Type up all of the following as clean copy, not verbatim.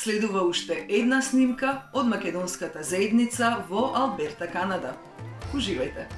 Следува уште една снимка од македонската заедница во Алберта, Канада. Уживајте!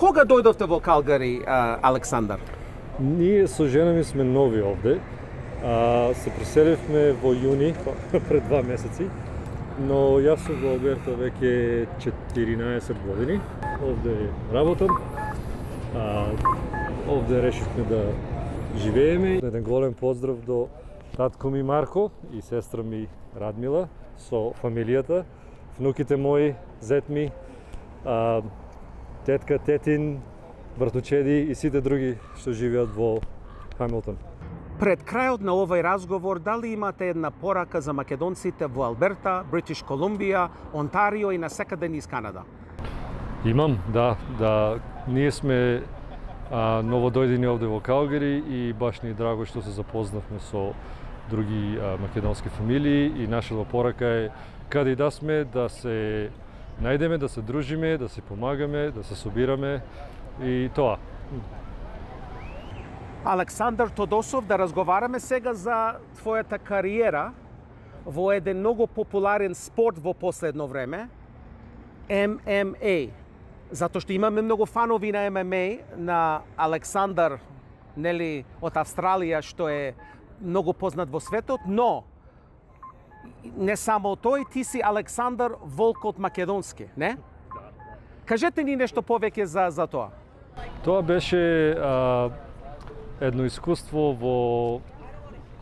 Кога дојдовте во Калгари, Александар? Ние со жена ми сме нови овде. Се преселивме во јуни, пред 2 месеци, но јас сум во Алберта веќе 14 години. Овде работам. Овде решивме да живееме. Еден голем поздрав до татко ми Марко и сестра ми Радмила со фамилијата, внуките мои, зет ми, тетка, тетин, братучеди и сите други што живеат во Хамилтон. Пред крајот на овој разговор, дали имате една порака за македонците во Алберта, Бритиш Колумбија, Онтарио и насекаде низ Канада? Имам, да. Ние сме новодојдени овде во Калгари и баш ни е драго што се запознавме со други македонски фамилии и нашата порака е каде и да сме да се најдеме, да се дружиме, да се помагаме, да се собираме и тоа. Александар Тодосов, да разговараме сега за твојата кариера во еден многу популарен спорт во последно време, ММА. Затоа што имаме многу фанови на ММА, на Александар, нели, од Австралија, што е многу познат во светот, но не само тој, ти си Александар Волкот Македонски, не? Кажете ни нешто повеќе за тоа. Тоа беше едно искуство во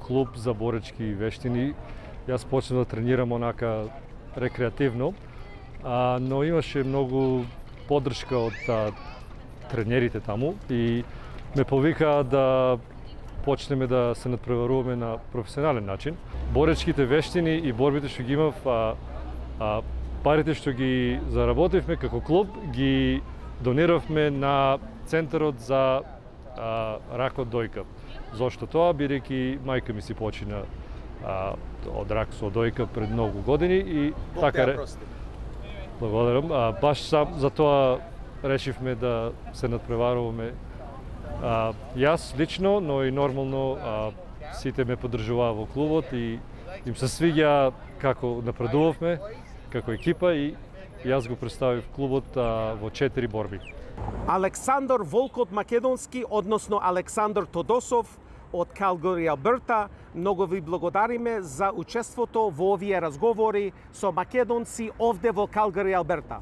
клуб за боречки вештини. Јас почнав да тренирам онака рекреативно, но имаше многу поддршка од тренерите таму и ме повикаа да почнеме да се надпреваруваме на професионален начин. Боречките вештини и борбите што ги имав, парите што ги заработивме како клуб, ги дониравме на Центарот за рак од дојка. Зошто тоа? Бидејќи мајка ми си почина од рак со дојка пред многу години и така благодарам. Баш за тоа решивме да се надпреваруваме. Јас лично, но и нормално сите ме поддржуваа во клубот и им се свиѓа како напредувавме како екипа и јас го представив клубот во 4 борби. Александар Волкот Македонски, односно Александар Тодосов од Калгари, Алберта, многу ви благодариме за учеството во овие разговори со македонци овде во Калгари, Алберта.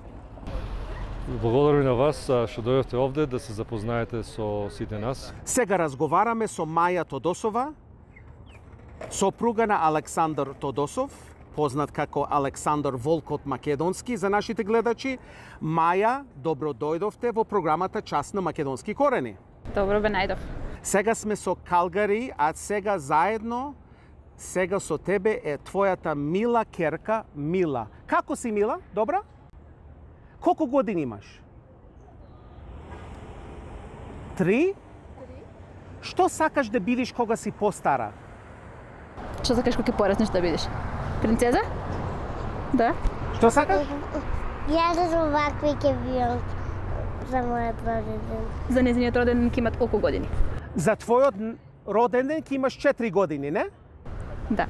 Благодарам на вас што дојдовте овде да се запознаете со сите нас. Сега разговараме со Маја Тодосова, сопруга на Александар Тодосов, познат како Александар Волкот Македонски за нашите гледачи. Маја, добро дојдовте во програмата Час на македонски корени. Добро бе најдов. Сега сме со Калгари, а сега заедно Сега со тебе е твојата мила керка Мила. Како си, Мила? Добра? Колку години имаш? 3? Што сакаш да бидиш кога си постара? Што сакаш кога ќе пораснеш да бидеш? Принцеза? Да. Што сакаш? Јас овакви ќе бидам за мојот роден ден. За нејзиниот роден ден ќе имат колку години? За твојот роден ден ќе имаш 4 години, не? Да.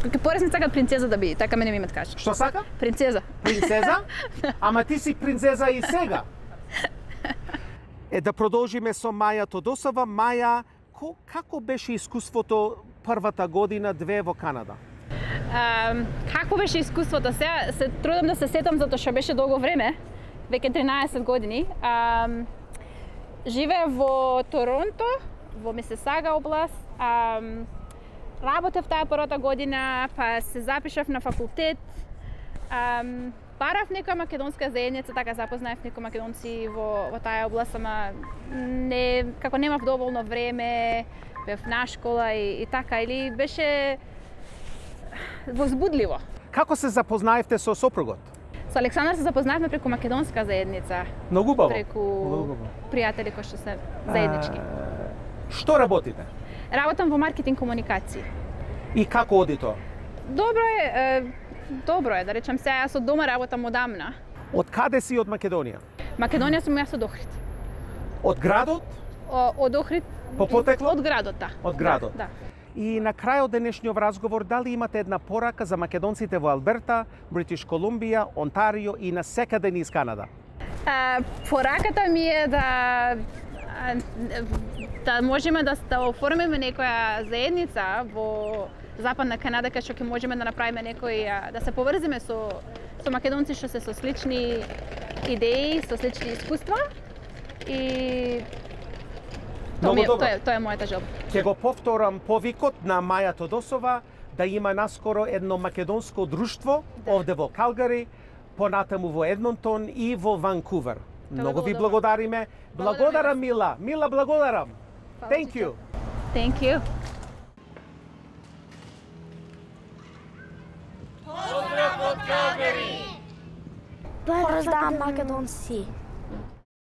Кога ќе пораснеш сакат принцеза да биде, така мене ми имат кажа. Што сака? Принцеза. Принцеза? Ама ти си принцеза и сега. Да продолжиме со Маја Тодосова. Маја, како беше искуството првата година, 2 во Канада? Какво беше искуството? Сега се трудам да се сетам затоа што беше долго време, веќе 13 години. Живеев во Торонто, во Мисисага област. Работев таа првата година, па се запишав на факултет. Барав некоја македонска заедница, така запознаев некои македонци во таа област, ама како немав доволно време, бев на школа и така, или беше возбудливо. Како се запознаевте со сопругот? Со Александар се запознаевме преку македонска заедница. Многу убаво. Преку пријатели кои што се заеднички. Што работите? Работам во маркетинг комуникации. И како оди тоа? Добро е, да речам сега, јас од дома работам одамна. Од каде си од Македонија? Македонија сум јас од Охрид. Од градот? Од Охрид. По потекло? Од градот, да. Од градот. Да. И на крајот денешниот разговор, дали имате една порака за македонците во Алберта, Бритиш Колумбија, Онтарио и на секаде низ Канада? Пораката ми е да можеме да оформиме некоја заедница во Западна Канада, кај што ќе можеме да направиме да се поврзиме со македонци што се со слични идеи, со слични искуства и тоа е мојата желба. Ќе го повторам повикот на Маја Тодосова да има наскоро едно македонско друштво овде во Калгари, понатаму во Едмонтон и во Ванкувер. Многу ви благодариме. Благодарам, Мила. Мила, благодарам. Thank you. Thank you. Поздрав од Калгари! Поздрав македонци!